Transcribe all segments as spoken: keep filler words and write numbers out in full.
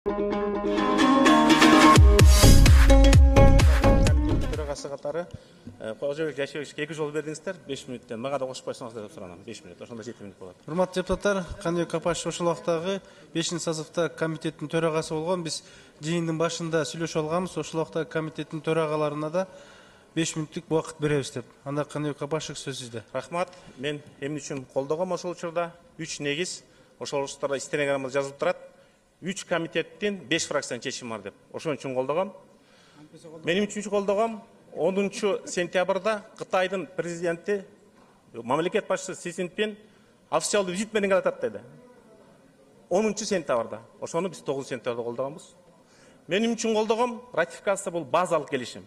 Төрагасы катары Кожобек Жайшыбековичке эки жол бердиңиздер, беш мүнөттөн. Мага да кошуп койсоңуздар деп суранам. беш мүнөт. Ошондо жети мүнөт болот. Урматтуу депутаттар, Кандыбек Капашев ошол убактагы бешинчи созывда комитеттин төрагасы болгон. Биз жыйындын башында сүйлөшүп алганбыз. Ошол убактагы комитеттин төрагаларына да беш мүнөттүк убакыт беребиз деп. Анда Кандыбек Капашев сөз сизде. Рахмат. Мен эмне үчүн колдогом ошол учурда үч негиз. Ошол учурда стенограммада жазылып турат. үч комитеттин беш фракциянын чечими бар деп. Ошон үчүн колдогом. Менин үчүнчү колдогом онунчу сентябрда Кытайдын президенти, мамлекет башчысы Си Цзиньпин официалдуу визит менен келатат деди. онунчу сентябрда. Ошону биз тогузунчу сентябрда колдогонбуз. Менин үчүн колдогом ратификация бул базалык келишим.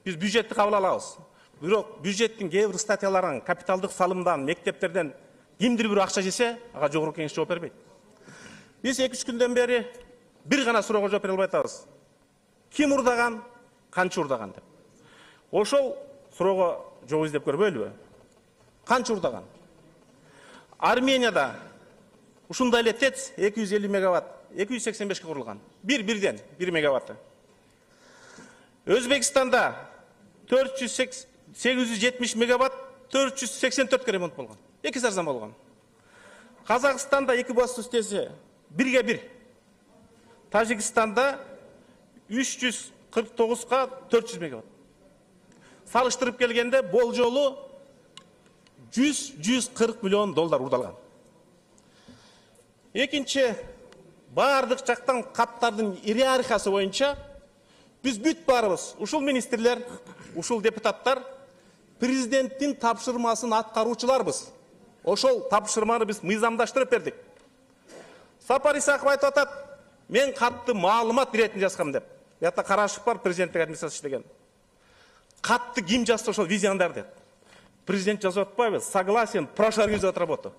Биз бюджетти кабыл алабыз. Бирок бюджеттин кээ бир статьяларын, капиталдык салымдан, мектептерден кимдир бир акча жесе, ага жогорку кеңеш жооп бербейт. Биз эки үч күндөн бери бир гана суроого жооп бере албай атабыз. Ким урдаган, канча урдаган деп. Ошол суроого жооп издеп көрбөйлүбү? Канча урдаган? Арменияда ушундай эле ТЭЦ эки жүз элүү мегаватт, эки жүз сексен бешке курулган. Бир бирден бир мегаватты. Өзбекстанда төрт жүз сегиз жүз жетимиш мегаватт, төрт жүз сексен төрткө ремонт болгон. Эки арзан болгон. Казакстанда эки басуу стези бирге бир. Тажикстанда үч жүз кырк тогузга төрт жүз мегаватт. Салыштырып келгенде болжолу жүз жүз кырк миллион доллар урдалган. Экинчи, бардык жактан каттардын иерархиясы боюнча биз бүт барыбыз, ушул министрлер, ушул депутаттар президенттин тапшырмасын аткаруучуларбыз. Ошол тапшырманы биз мыйзамдаштырып бердик. Сапар Исаков айтып атат, мен катты маалымат иретин жазгам деп. Ята Карашев бар, президенттик администрация иштеген. Катты ким жазса ошол визиондар деп. Президент жазып атпайбы? Согласен, прошу организовать работу.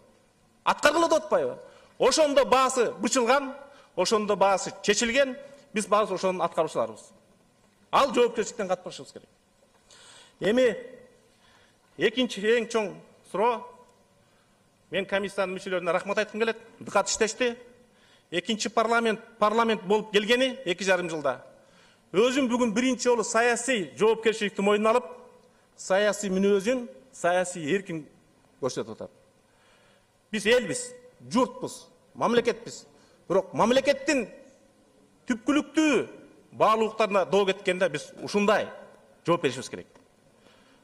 Аткаргыла деп атпайбы? Ошондо баасы бычылган, ошондо баасы чечилген, биз баасы ошонун аткаруучуларыбыз. Ал жоопкерчиликтен катпашыбыз керек. Эми экинчи эң чоң суроо, мен комиссиянын мүчөлөрүнө рахмат айткым келет. Дыкат иштешти. Экинчи парламент парламент болуп келгени эки жарым жылда. Өзүм бүгүн биринчи жолу саясий жоопкерчиликти мойнуна алып, саясий мүнөзүн, саясий эркин көрсөтүп атат. Биз элбиз, журтпуз, мамлекетпиз. Бирок мамлекеттин түпкүлүктүү баалуулуктарына доо кеткенде биз ушундай жооп беришибиз керек.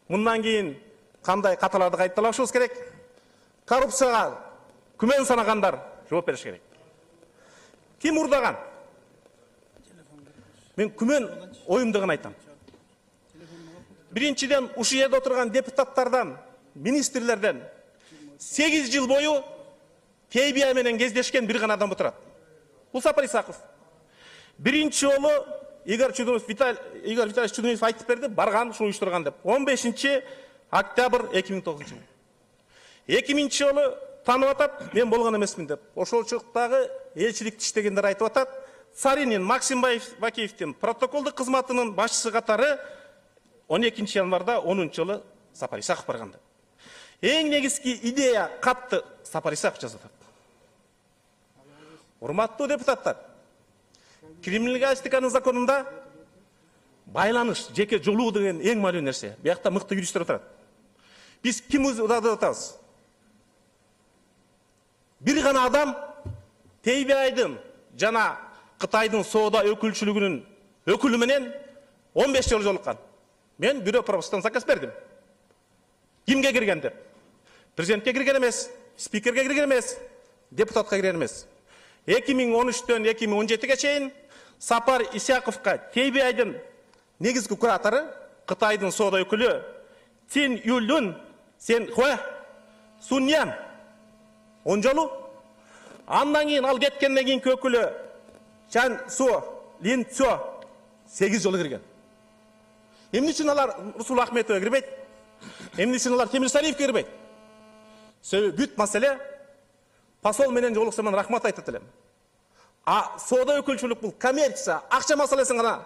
Мындан кийин кандай каталарды кайталашыбыз керек? Коррупцияга күмөн санагандар жооп бериш керек. Ким урдаган? Мен күмөн оюмду гана айтам. Биринчиден, ушул жерде отурган депутаттардан, министрлерден сегиз жыл бою Т Б I менен кездешкен бир гана адам отурат. Бул Сапар Исаков. Биринчи жолу Игорь Чудунов, Виталий Игорь Витальевич Чудунов айтып берди, барган, ушуну уюштурган деп. он бешинчи октябрь эки миң тогузунчу жыл. эки миңинчи жолу танып атат, мен болгон эмесмин деп. Ошол чыктагы элчиликти иштегендер айтып атат. Царинин Максим Бакиевдин протоколдук кызматынын башчысы катары он экинчи январда онунчу жылы Сапар Исаков барган деп. Эң негизги идея катты Сапар Исаков жазып атат. Урматтуу депутаттар, криминалистиканын законунда байланыш, жеке жолуу деген эң маанилүү нерсе. Биякта мыкты юристтер отурат. Биз ким урдады деп атабыз? Бир гана адам Т Б I'дын жана Кытайдын соода өкүлчүлүгүнүн өкүлү менен он беш жолу жолуккан. Мен бирөө пропускан заказ бердим. Кимге кирген деп? Президентке кирген эмес, спикерге кирген эмес, депутатка кирген эмес. эки миң он үчтөн эки миң он жетиге чейин Сапар Исаковго Т Б I'дын негизги куратору, Кытайдын соода өкүлү Цин Юлюн Сен Хуа Суньян он жолу. Андан кийин ал кеткенден кийинки өкүлү Чан Су Лин Цо сегиз жолу кирген. Эмне үчүн алар Русул Ахметовго кирбейт? Эмне үчүн алар Темир Сариевге кирбейт? Себеби бүт маселе посол менен жолуксам мен рахмат айтат элем. А соода өкүлчүлүк бул коммерция, акча маселесин гана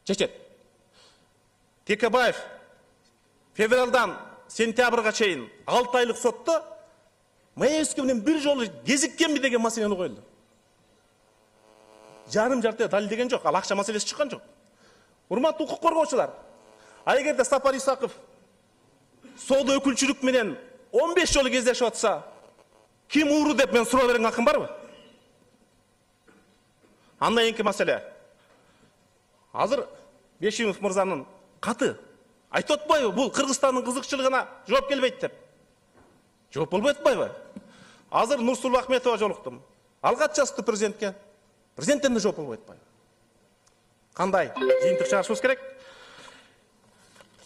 чечет. Текебаев февралдан сентябрга чейин алты айлык сотто Маевский менен бир жолу кезиккенби деген маселени коюлду. жарым жарты далилдеген жок, ал акча маселеси чыккан жок. Урматтуу укук коргоочулар, а эгерде Сапар Исаков соода өкүлчүлүк менен он беш жолу кездешип атса, ким ууру деп мен суроо берген акым барбы? Андан кийинки маселе. Азыр Бешимов мырзанын каты айтып атпайбы, бул Кыргызстандын кызыкчылыгына жооп келбейт деп? Жооп болбой атпайбы? Азыр Нурсулу Ахметова жолуктум. Ал кат жазды президентке. Президенттен да жооп болбой атпайбы? Кандай жыйынтык чыгарышыбыз керек?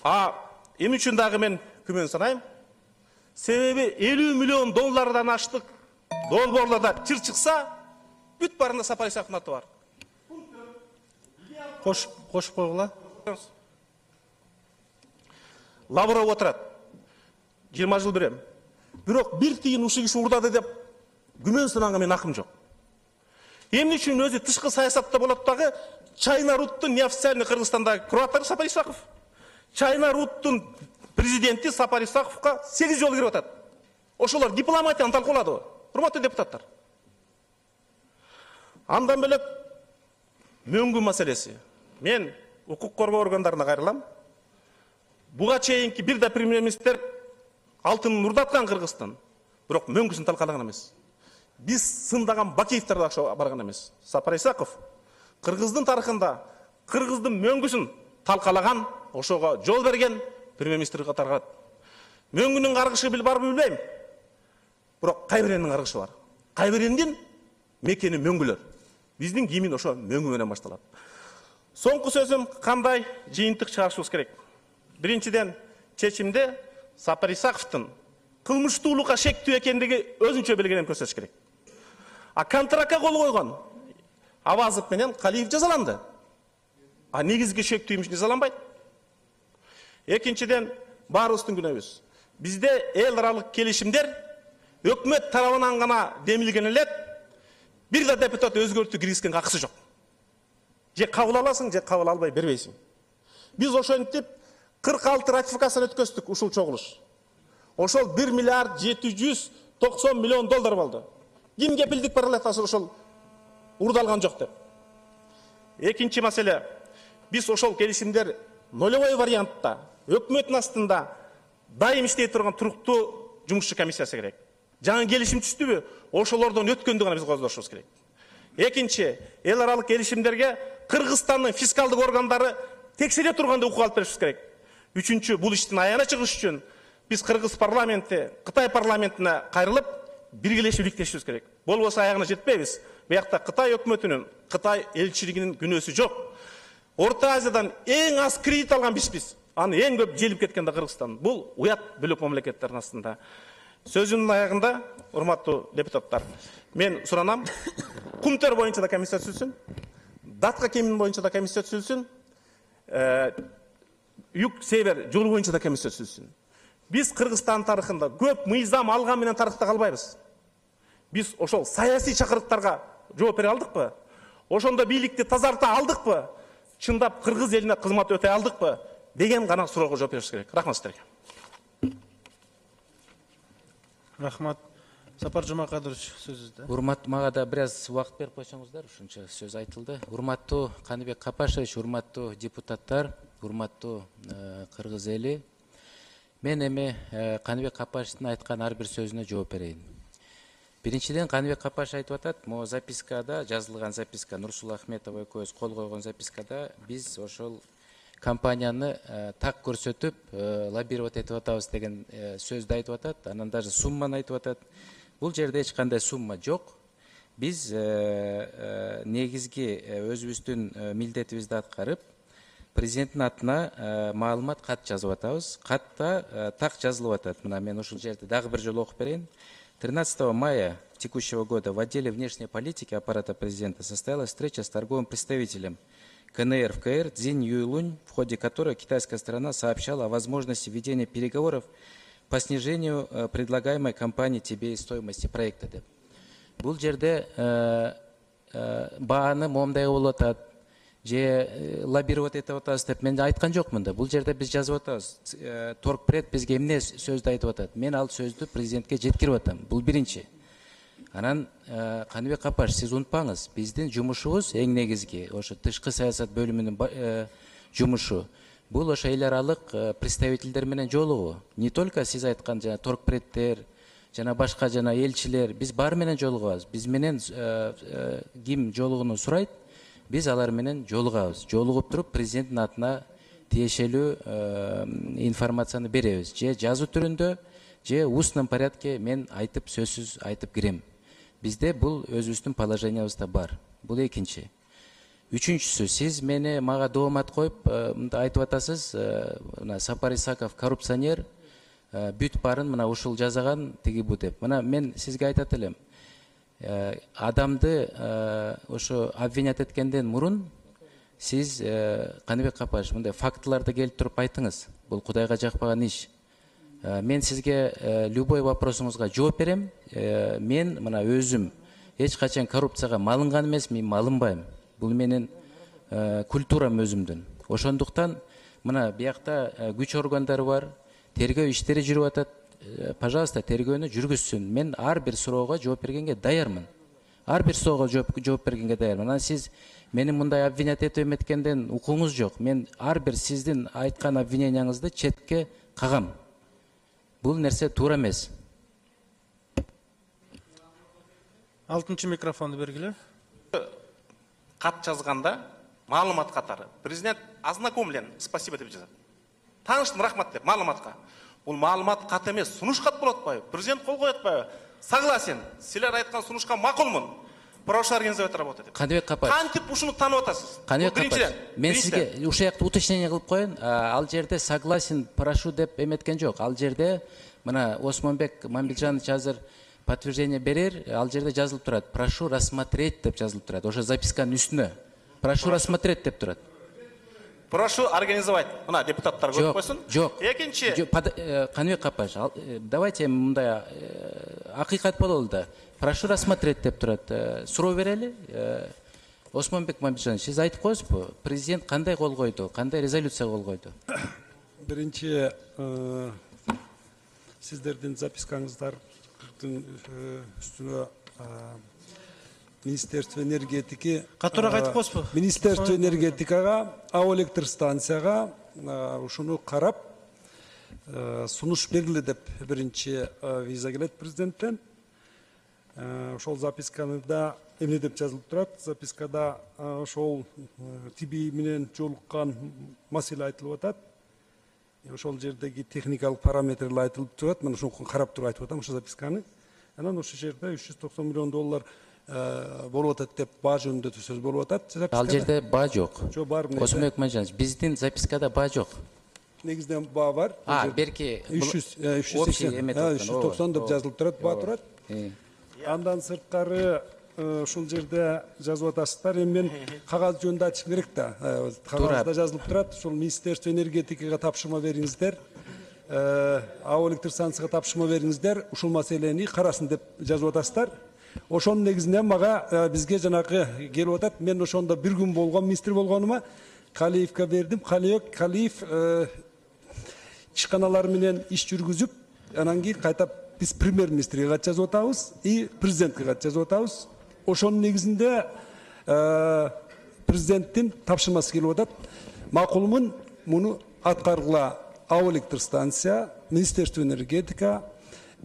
А эмне үчүн дагы мен күмөн санайм? Себеби элүү миллион доллардан аштык долбоорлордо чыр чыкса, бүт барында Сапар Исаковдун аты бар. Кош кошуп койгула. Лавров отурат. жыйырма жыл берем. Бирок бир тыйын ушул киши урдады деп күмөн санаганга мен акым жок. Эмне үчүн өзү тышкы саясатта болот дагы Чайна Руттун неофициальный Кыргызстанда кураттары Сапар Исаков. Чайна Руттун президенти Сапар Исаковго сегиз жолу кирип атат. Ошолор дипломатияны талкууладыбы? Урматтуу депутаттар. Андан бөлөк мөңгү маселеси. Мен укук коргоо органдарына кайрылам. Буга чейинки бир да премьер-министр алтынын урдаткан Кыргызстан, бирок мөңгүсүн талкалаган эмес. Биз сындаган Бакиевдер да барган эмес. Сапар Исаков Кыргыздын тарыхында Кыргыздын мөңгүсүн талкалаган, ошого жол берген премьер-министр катарга. Мөңгүнүн каргышы бил барбы билбейм. Бирок кайбиренин каргышы бар. Кайбирендин мекени мөңгүлөр. Биздин кийимин ошо мөңгү менен башталат. Соңку сөзүм кандай жыйынтык чыгарышыбыз керек? Биринчиден, чечимде Сапар Исаковдун кылмыштуулукка шектүү экендиги өзүнчө белгилеп көрсөтүш керек. А контрактка кол койгон Авазов менен Калиев жазаланды. А негизги шектүү имиш жазаланбайт. Экинчиден, баарыбыздын күнөөбүз. Бизде эл аралык келишимдер өкмөт тарабынан гана демилген элек, бир да депутат өзгөртүү киргизген акысы жок. Же кабыл аласың, же кабыл албай бербейсиң. Биз ошентип кырк алты ратификацияны өткөздүк ушул чогулуш. Ошол бир миллиард жети жүз токсон миллион доллар болду. Ким кепилдик бара элек ошол урдалган жок деп. Экинчи маселе. Биз ошол келишимдер нолевой вариантта, өкмөттүн астында дайым иштей турган туруктуу жумушчу комиссиясы керек. Жаңы келишим түштүбү? Ошолордон өткөндү гана биз коздошубуз керек. Экинчи, эл аралык келишимдерге Кыргызстандын фискалдык органдары текшере турганда укук алып беришибиз керек. Үчүнчү, бул иштин аягына чыгыш үчүн биз Кыргыз парламенти, Кытай парламентине кайрылып, биргелешип иликтешибиз керек. Болбосо аягына жетпейбиз. Буякта Кытай өкмөтүнүн, Кытай элчилигинин күнөөсү жок. Орто Азиядан эң аз кредит алган бизбиз. Аны эң көп желип кеткен да Кыргызстан. Бул уят бөлөк мамлекеттердин астында. Сөзүмдүн аягында, урматтуу депутаттар, мен суранам, Кумтөр боюнча да комиссия түзүлсүн, Датка кемин боюнча да комиссия түзүлсүн, Юг Север жолу боюнча да комиссия түзүлсүн. Биз Кыргызстан тарыхында көп мыйзам алган менен тарыхта калбайбыз. Биз ошол саясий чакырыктарга жооп бере алдыкпы? Ошондо бийликти тазарта алдыкпы? Чындап кыргыз элине кызмат өтө алдыкпы? Деген гана суроого жооп беришибиз керек. Рахмат сиздерге. Рахмат. Сапар Жумакадырович сөзүздө. Урматтуу, мага да бир аз убакыт берип койсоңуздар, ушунча сөз айтылды. Урматтуу Каныбек Капашевич, урматтуу депутаттар, урматтуу кыргыз эли. Мен эми Каныбек Капашевичтин айткан ар бир сөзүнө жооп берейин. Биринчиден, Каныбек Капашев айтып атат, могу запискада, жазылган записка, Нурсулу Ахметова экөөбүз кол койгон запискада биз ошол компанияны так көрсөтүп, лоббировать этип атабыз деген сөздү айтып атат. Анан даже сумманы айтып атат. Бул жерде эч кандай сумма жок. Биз негизги өзүбүздүн милдетибизди аткарып, президенттин атына маалымат кат жазып атабыз. Катта так жазылып атат. Мына мен ушул жерде дагы бир жолу окуп берейин. тринадцатого мая текущего года в отделе внешней политики аппарата президента состоялась встреча с торговым представителем КНР в КР Цзинь Юйлунь, в ходе которой китайская сторона сообщала о возможности ведения переговоров по снижению предлагаемой компанией тебе стоимости проекта. Бул жерде бааны момундай болуп атат, же лоббировать этип атабыз деп мен айткан жокмун да. Бул жерде биз жазып атабыз. Торгпред бизге эмне сөздү айтып атат. Мен ал сөздү президентке жеткирип атам. Бул биринчи. Анан Каныбек Капаш, сиз унутпаңыз, биздин жумушубуз эң негизги ошо тышкы саясат бөлүмүнүн жумушу. Бул ошо эл аралык представительдер менен жолугуу. Не только сиз айткан жана торгпредтер, жана башка жана элчилер, биз баары менен жолугабыз. Биз менен ким жолугууну сурайт, биз алар менен жолугабыз. Жолугуп туруп президенттин атына тиешелүү информацияны беребиз. Же жазуу түрүндө, же устном порядке мен айтып сөзсүз айтып кирем. Бизде бул өзүбүздүн положениябызда бар. Бул экинчи. Үчүнчүсү, сиз мени мага доомат коюп мындай айтып атасыз, мына Сапар Исаков коррупционер, бүт барын мына ушул жазаган тиги бу деп. Мына мен сизге айтат элем. Адамды ошо обвинять эткенден мурун сиз Каныбек Капаш мындай фактыларды келип туруп айтыңыз. Бул Кудайга жакпаган иш. Мен сизге любой вопросуңузга жооп берем. Мен мына өзүм эч качан коррупцияга малынган эмес, мен малынбайм. Бул менин культурам өзүмдүн. Ошондуктан мына биякта күч органдары бар, тергөө иштери жүрүп атат. Пожалуйста, тергөөнү жүргүзсүн. Мен ар бир суроого жооп бергенге даярмын. Ар бир суроого жооп бергенге даярмын. Анан сиз мени мындай обвинять этип эметкенден укуңуз жок. Мен ар бир сиздин айткан обвиненияңызды четке кагам. Бул нерсе туура эмес. Алтынчы микрофонду бергиле. Кат жазганда маалымат катары президент ознакомлен, спасибо деп жазат. Тааныштым, рахмат деп маалыматка. Бул маалымат кат эмес, сунуш кат болот атпайбы? Президент кол коет атпайбы? Согласен. Силер айткан сунушка макулмун. Прошу организовать работу деп. Каныбек Капаш. Кантип ушуну таанып атасыз? Каныбек Капаш. Мен сизге ушул жакта уточнение кылып коеюн. Ал жерде согласен, прошу деп эметкен жок. Ал жерде мына Осмонбек Мамбетжанович азыр подтверждение берер, ал жерде жазылып турат. Прошу рассмотреть деп жазылып турат. Ошо записканын үстүнө. Прошу рассмотреть деп турат. Прошу организовать. Мына депутаттар көрүп койсун. Жок. Экинчи. Каныбек Капаш, давайте мындай акыйкат бололу да. Прошу рассмотреть деп турат. Суроо берели. Осмонбек Мамбетжанович, сиз айтып коесузбу? Президент кандай кол койду? Кандай резолюция кол койду? Биринчи, сиздердин запискаңыздар үстүнө Министерство энергетики катуураак айтып коесузбу? Министерство энергетикага, АО электр станцияга ушуну карап сунуш бергиле деп биринчи виза келет президенттен. Ошол записканы да эмне деп жазылып турат? Запискада ошол тиби менен жолуккан маселе айтылып атат. Ошол жердеги техникалык параметрлер айтылып турат. Мен ошону карап туруп айтып атам ошол записканы. Анан ошол жерде үч жүз токсон миллион доллар болуп атат деп баа жөнүндө сөз болуп атат. Ал жерде баа жок. Жок, бар. Осмонбек Мамбетжанович, биздин запискада баа жок. Негизинен баа бар. А, берки үч жүз токсон деп жазылып турат, баа турат. Андан сырткары ушул жерде жазып атасыздар. Эми мен кагаз жөнүндө айтышым керек да. Кагазда жазылып турат. Ушул Министерство энергетикага тапшырма бериңиздер. АО электр станцияга тапшырма бериңиздер. Ушул маселени карасын деп жазып атасыздар. Ошонун негизинен мага бизге жанагы келип атат. Мен ошондо бир күн болгон, министр болгонума Калиевке бердим. Калиев Калиев ишканалар менен иш жүргүзүп, анан кийин кайта биз премьер-министрге кат жазып атабыз и президентке кат жазып атабыз. Ошонун негизинде президенттин тапшырмасы келип атат. Макулмун муну аткаргыла АО электр станция, Министерство энергетика,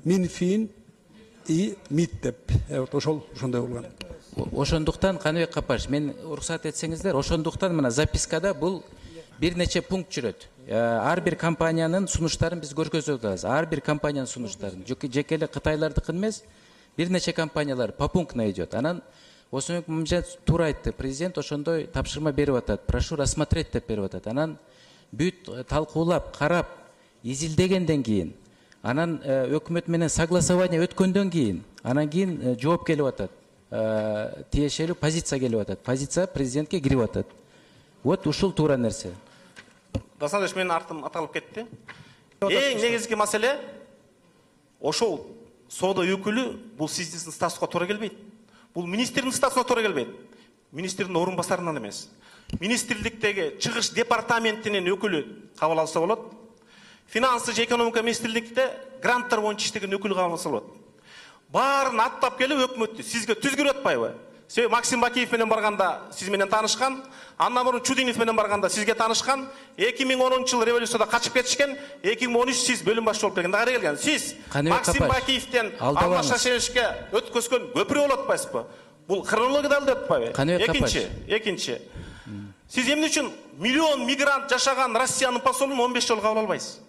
Минфин и МИД деп. Ошол ошондой болгон. Ошондуктан Каныбек Капаш, мен уруксат этсеңиздер, ошондуктан мына запискада бул бир нече пункт жүрөт. Ар бир компаниянын сунуштарын биз көргөзүп атабыз. Ар бир компаниянын сунуштарын, жеке эле Кытайлардыкын эмес, бир нече компаниялар попунктно идет. Анан Осмонбек Мамбетжанович туура айтты. Президент ошондой тапшырма берип атат. Прошу рассмотреть деп берип атат. Анан бүт талкуулап, карап, изилдегенден кийин, анан өкмөт менен согласование өткөндөн кийин, анан кийин жооп келип атат. Тиешелүү позиция келип атат. Позиция президентке кирип атат. Вот ушул туура нерсе. Дасандыш, менин артым аталып кетти. Эң негизги маселе ошол соода өкүлү бул сиздин статуска туура келбейт. Бул министрдин статусуна туура келбейт. Министрдин орун басарынан эмес. Министрликтеги чыгыш департаментинин өкүлү кабыл алса болот. Финансы же экономика министрликте гранттар боюнча иштеген өкүл кабыл алса болот. баарын аттап келип өкмөттү сизге түзгүрүп атпайбы? Себеби Максим Бакиев менен барганда сиз менен таанышкан, андан мурун Чудинов менен барганда сизге таанышкан, эки миң онунчу жылы революцияда качып кетишкен, эки миң он үч сиз бөлүм башчы болуп келгенде кайра келген. Сиз Максим Бакиевден Алмаз Шашеновичке өткөзгөн көпүрө болуп атпайсызбы? Бул хронологияда алып атпайбы? Экинчи, экинчи. Сиз эмне үчүн миллион мигрант жашаган Россиянын посолун он беш жолу кабыл албайсыз?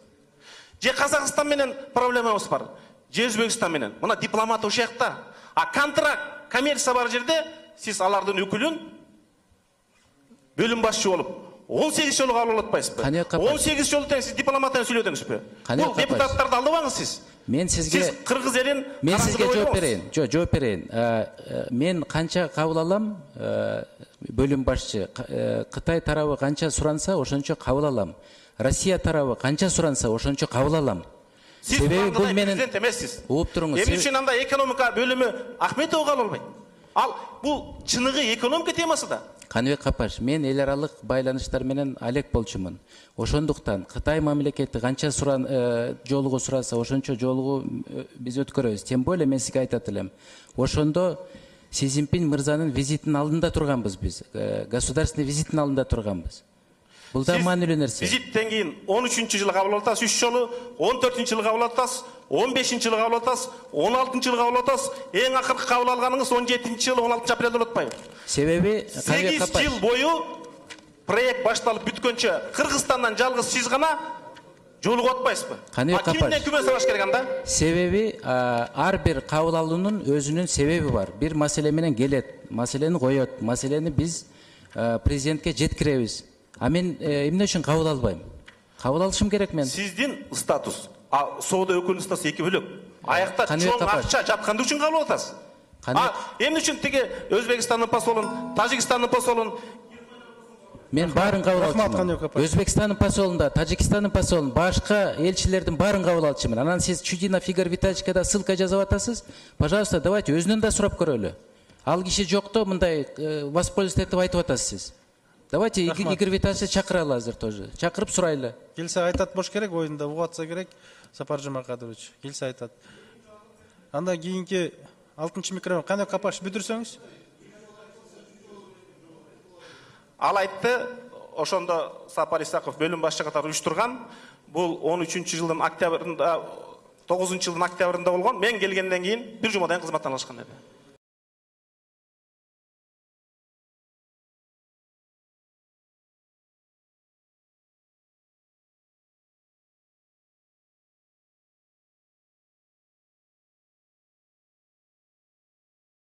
Же Казакстан менен проблемабыз бар, же Өзбекстан менен. Мына дипломат ошол жакта. А контракт, коммерция бар жерде сиз алардын өкүлүн бөлүм башчы болуп он сегиз жолу кабыл алып атпайсызбы? он сегиз жолу тең сиз дипломат менен сүйлөдүңүзбү? Бул депутаттарды алдабаңыз сиз. Мен сизге сиз кыргыз элин мен сизге жооп берейин. Жо, жооп берейин. Мен канча кабыл алам, бөлүм башчы, Кытай тарабы канча суранса, ошончо кабыл алам. Россия тарабы канча суранса, ошончо кабыл алам. Сиз бул менен президент эмессиз. Угуп туруңуз. Эмне үчүн анда экономика бөлүмү Ахметов кабыл албайт? Ал бул чыныгы экономика темасы да. Каныбек Капаш, мен эл аралык байланыштар менен алек болчумун. Ошондуктан Кытай мамлекети канча суран жолугу сураса, ошончо жолугу биз өткөрөбүз. Тем более мен сизге айтат элем. Ошондо Си Цзиньпин мырзанын визитинин алдында турганбыз биз. Государственный визитинин алдында турганбыз. Бул да маанилүү нерсе. Визиттен кийин он үчүнчү жылы кабыл алып атасыз, үч жолу, он төртүнчү жылы кабыл алып атасыз, он бешинчи жылы кабыл алып атасыз, он алтынчы жылы кабыл алып атасыз. Эң акыркы кабыл алганыңыз он жетинчи жылы он алтынчы апрелде болуп атпайбы? Себеби сегиз жыл бою проект башталып бүткөнчө Кыргызстандан жалгыз сиз гана жолугуп атпайсызбы? Кимден күмөн сабаш керек анда? Себеби ар бир кабыл алуунун өзүнүн себеби бар. Бир маселе менен келет, маселени коет, маселени биз президентке жеткиребиз. А мен эмне үчүн кабыл албайм? Кабыл алышым керек мен. Сиздин статус, а соода өкүлүнүн статусу эки бөлөк. Аякта чоң акча жаткан үчүн кабыл алып атасыз. А эмне үчүн тиги Өзбекстандын посолун, Тажикстандын посолун мен баарын кабыл алчумун. Өзбекстандын посолунда, Тажикстандын посолун, башка элчилердин баарын кабыл алчумун. Анан сиз Чудинов Игорь Витальевичке да ссылка жазып атасыз. Пожалуйста, давайте өзүнөн да сурап көрөлү. Ал киши жокто мындай воспользоваться этип айтып атасыз сиз. Давайте Игорь Витальевичти чакыралы азыр тоже. Чакырып сурайлы. Келсе айтат бош керек, оюнда угуп атса керек. Сапар Жумакадырович келсе айтат. Анда кийинки алтынчы микрофон кандай Капаш бүтүрсөңүз? Ал айтты, ошондо Сапар Исаков бөлүм башчы катары уюштурган. Бул он үчүнчү жылдын октябрында, тогузунчу жылдын октябрында болгон. Мен келгенден кийин бир жумадан кызматтан алышкан эди.